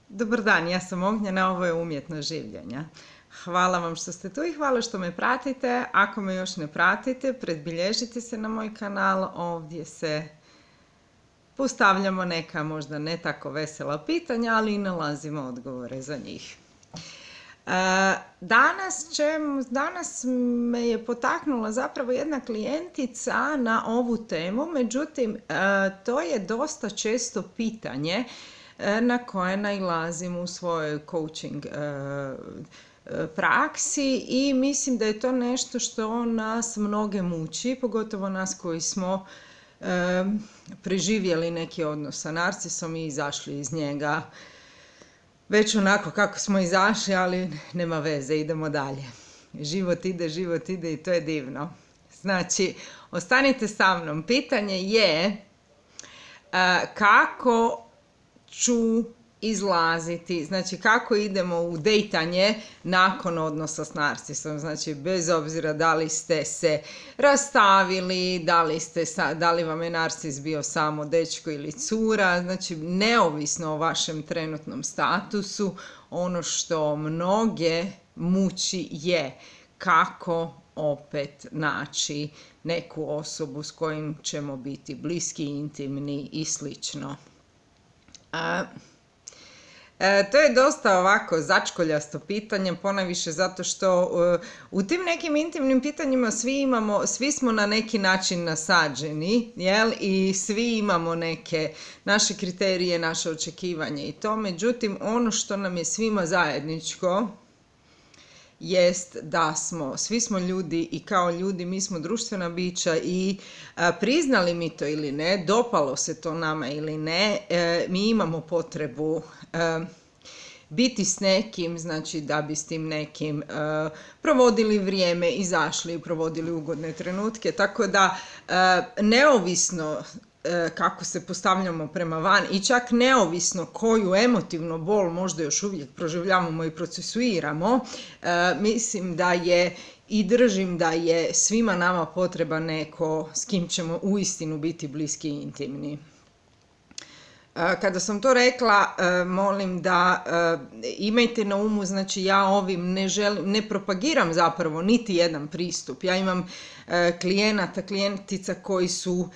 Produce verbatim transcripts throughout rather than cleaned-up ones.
Dobar dan, ja sam Ognjena, ovo je Umjetnost življenja. Hvala vam što ste tu i hvala što me pratite. Ako me još ne pratite, predbilježite se na moj kanal. Ovdje se postavljamo neka možda ne tako vesela pitanja, ali i nalazimo odgovore za njih. Danas, će, danas me je potaknula zapravo jedna klijentica na ovu temu, međutim to je dosta često pitanje na koje nailazim u svojoj coaching praksi i mislim da je to nešto što nas mnoge muči, pogotovo nas koji smo preživjeli neki odnos sa narcisom i izašli iz njega već onako kako smo izašli, ali nema veze, idemo dalje. Život ide, život ide i to je divno. Znači, ostanite sa mnom. Pitanje je kako ću izlaziti, znači kako idemo u dejtanje nakon odnosa s narcisom, znači bez obzira da li ste se rastavili, da li, ste, da li vam je narcis bio samo dečko ili cura, znači neovisno o vašem trenutnom statusu, ono što mnoge muči je kako opet naći neku osobu s kojim ćemo biti bliski, intimni i slično. A, e, to je dosta ovako začkoljasto pitanje, ponajviše zato što uh, u tim nekim intimnim pitanjima svi imamo, svi smo na neki način nasađeni, jel? I svi imamo neke naše kriterije, naše očekivanje i to, međutim ono što nam je svima zajedničko jest da smo, svi smo ljudi i kao ljudi mi smo društvena bića i a, priznali mi to ili ne, dopalo se to nama ili ne, e, mi imamo potrebu e, biti s nekim, znači da bi s tim nekim e, provodili vrijeme, izašli, provodili ugodne trenutke, tako da e, neovisno kako se postavljamo prema van i čak neovisno koju emotivnu bol možda još uvijek proživljavamo i procesuiramo, e, mislim da je i držim da je svima nama potreba neko s kim ćemo uistinu biti bliski i intimni. E, kada sam to rekla, e, molim da e, imajte na umu, znači ja ovim ne, želim, ne propagiram zapravo niti jedan pristup. Ja imam e, klijenata, klijentica koji su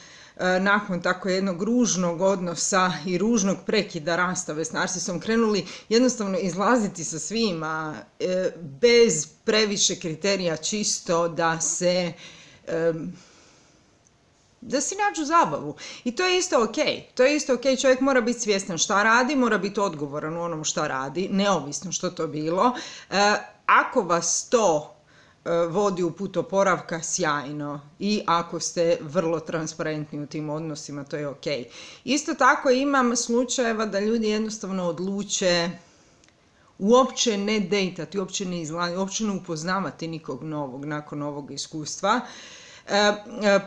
nakon tako jednog ružnog odnosa i ružnog prekida rastave s narcisom krenuli jednostavno izlaziti sa svima bez previše kriterija, čisto da se da si nađu zabavu. I to je isto ok. To je isto ok. Čovjek mora biti svjestan šta radi, mora biti odgovoran u onom šta radi, neovisno što to bilo. Ako vas to vodi u put oporavka, sjajno, i ako ste vrlo transparentni u tim odnosima, to je ok. Isto tako imam slučajeva da ljudi jednostavno odluče uopće ne dejtati, uopće ne izlaziti, uopće ne upoznavati nikog novog nakon ovog iskustva. E,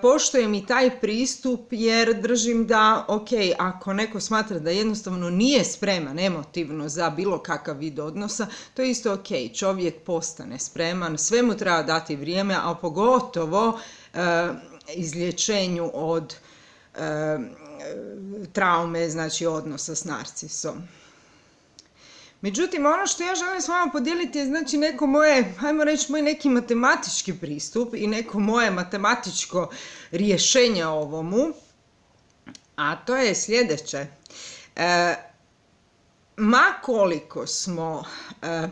poštujem i taj pristup jer držim da, ok, ako neko smatra da jednostavno nije spreman emotivno za bilo kakav vid odnosa, to je isto ok, čovjek postane spreman, sve mu treba dati vrijeme, a pogotovo e, izlječenju od e, traume, znači odnosa s narcisom. Međutim, ono što ja želim s vama podijeliti je znači neko moje, ajmo reći, moj neki matematički pristup i neko moje matematičko rješenje ovomu, a to je sljedeće. E, ma koliko smo e,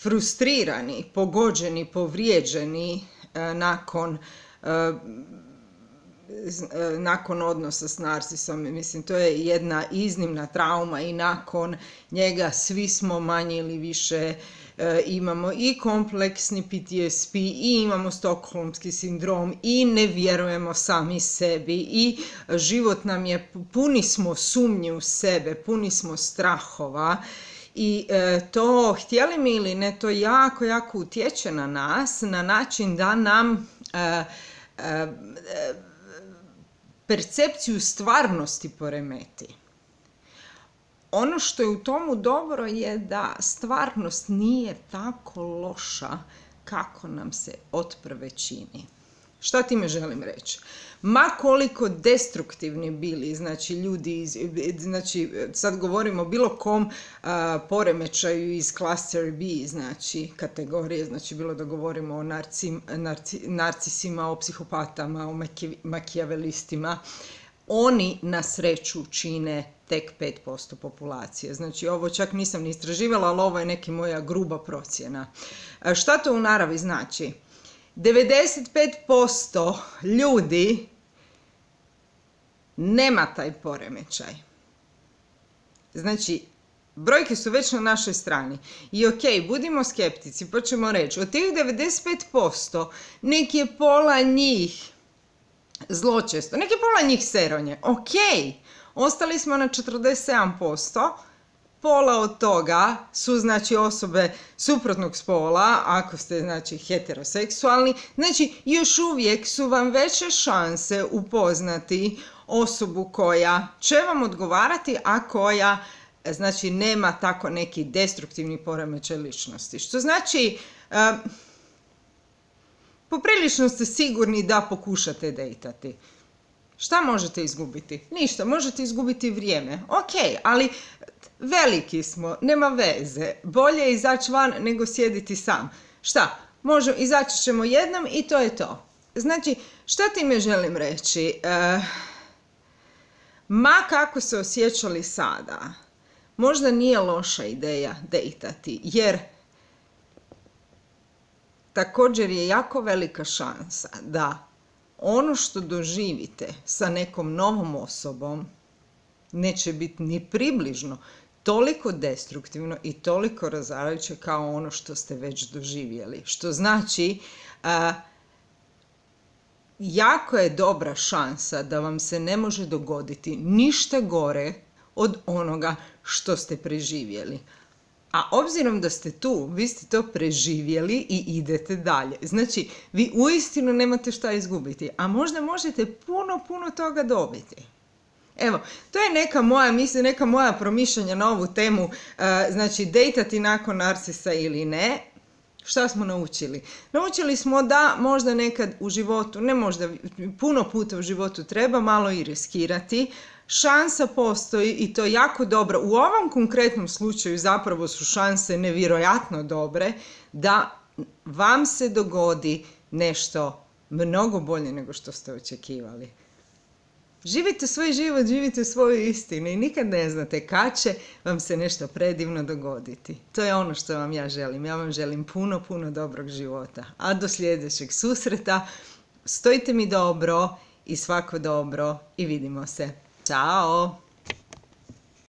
frustrirani, pogođeni, povrijeđeni e, nakon e, nakon odnosa s narcisom, mislim to je jedna iznimna trauma i nakon njega svi smo manje ili više e, imamo i kompleksni P T S P i imamo stokholmski sindrom i ne vjerujemo sami sebi i život nam je, puni smo sumnje u sebe, puni smo strahova i e, to, htjeli mi ili ne, to jako, jako utječe na nas na način da nam e, e, percepciju stvarnosti poremeti. Ono što je u tomu dobro je da stvarnost nije tako loša kako nam se otprve čini. Šta time želim reći? Ma koliko destruktivni bili, znači ljudi, iz, znači sad govorimo o bilo kom a, poremećaju iz cluster B, znači kategorije, znači bilo da govorimo o narci, narci, narcisima, o psihopatama, o maki, makijavelistima, oni na sreću čine tek pet posto populacije. Znači ovo čak nisam ni istraživala, ali ovo je neka moja gruba procjena. A šta to u naravi znači? devedeset pet posto ljudi nema taj poremećaj. Znači, brojke su već na našoj strani. I ok, budimo skeptici, pa ćemo reći, od tih devedeset pet posto nek je pola njih zločesto, nek je pola njih seronje. Ok, ostali smo na četrdeset sedam posto, pola od toga su znači osobe suprotnog spola, ako ste znači heteroseksualni, znači još uvijek su vam veće šanse upoznati osobu koja će vam odgovarati, a koja znači nema tako neki destruktivni poremećaj ličnosti. Što znači, uh, poprilično ste sigurni da pokušate dejtati. Šta možete izgubiti? Ništa, možete izgubiti vrijeme. Ok, ali veliki smo, nema veze. Bolje je izaći van nego sjediti sam. Šta? Možemo, izaći ćemo jednom i to je to. Znači, šta time želim reći? Uh, ma kako se osjećali sada, možda nije loša ideja dejtati, jer također je jako velika šansa da ono što doživite sa nekom novom osobom neće biti ni približno toliko destruktivno i toliko razarajuće kao ono što ste već doživjeli. Što znači, a, jako je dobra šansa da vam se ne može dogoditi ništa gore od onoga što ste preživjeli. A obzirom da ste tu, vi ste to preživjeli i idete dalje. Znači, vi uistinu nemate šta izgubiti, a možda možete puno, puno toga dobiti. Evo, to je neka moja misla, neka moja promišljanja na ovu temu, znači, dejtati nakon narcisa ili ne. Šta smo naučili? Naučili smo da možda nekad u životu, ne možda, puno puta u životu treba malo i riskirati. Šansa postoji i to jako dobro. U ovom konkretnom slučaju zapravo su šanse nevjerojatno dobre da vam se dogodi nešto mnogo bolje nego što ste očekivali. Živite svoj život, živite svoju istinu i nikad ne znate kad će vam se nešto predivno dogoditi. To je ono što vam ja želim. Ja vam želim puno, puno dobrog života. A do sljedećeg susreta stojite mi dobro i svako dobro i vidimo se. Ćao!